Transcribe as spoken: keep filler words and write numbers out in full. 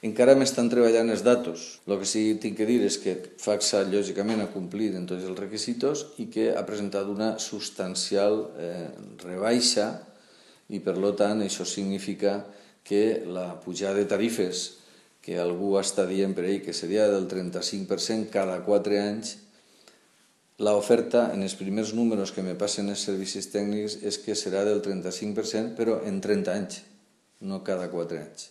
Encara m'estan treballant els datos. El que sí que tinc que dir és que Facsa, lògicament, ha complit en tots els requisitos i que ha presentat una substancial eh, rebaixa i, per tant, això significa que la pujada de tarifes que algú està dient per ahí que seria del trenta-cinc per cent cada quatre anys, l'oferta en els primers números que me passen els servicis tècnics és que serà del trenta-cinc per cent, però en trenta anys, no cada quatre anys.